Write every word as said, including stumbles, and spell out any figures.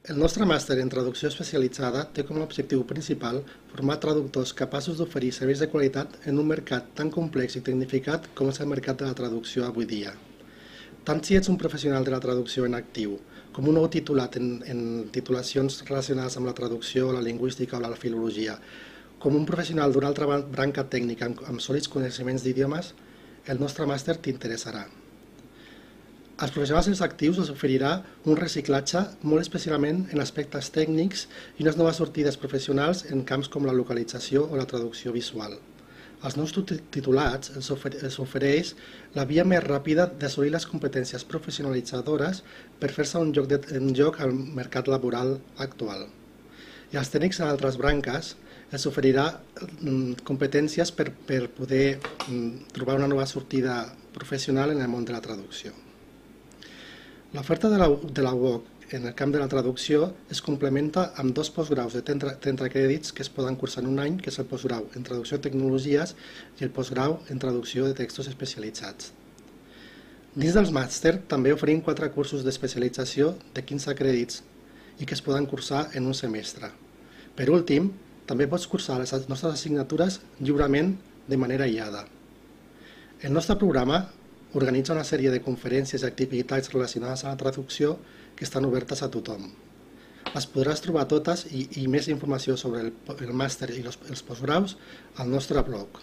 El nostre màster en traducció especialitzada té com a objectiu principal formar traductors capaços d'oferir serveis de qualitat en un mercat tan complex i tecnificat com és el mercat de la traducció avui dia. Tant si ets un professional de la traducció en actiu, com un nou titulat en, en titulacions relacionades amb la traducció, la lingüística o la filologia, com un professional d'una altra branca tècnica amb, amb sòlids coneixements d'idiomes, el nostre màster t'interessarà. Als professionals actius els oferirà un reciclatge molt especialment en aspectes tècnics i unes noves sortides professionals en camps com la localització o la traducció visual. Als nous titulats els ofereix la via més ràpida d'assolir les competències professionalitzadores per fer-se un lloc, de, un lloc al mercat laboral actual. I als tècnics en altres branques els oferirà competències per, per poder trobar una nova sortida professional en el món de la traducció. L'oferta de la, de la U O C en el camp de la traducció es complementa amb dos postgraus de trenta crèdits que es poden cursar en un any, que és el postgrau en traducció de tecnologies i el postgrau en traducció de textos especialitzats. Dins dels màster també oferim quatre cursos d'especialització de quinze crèdits i que es poden cursar en un semestre. Per últim, també pots cursar les nostres assignatures lliurement de manera aïllada. El nostre programa organitza una sèrie de conferències i activitats relacionades amb la traducció que estan obertes a tothom. Les podràs trobar totes i, i més informació sobre el, el màster i els, els postgraus al nostre blog.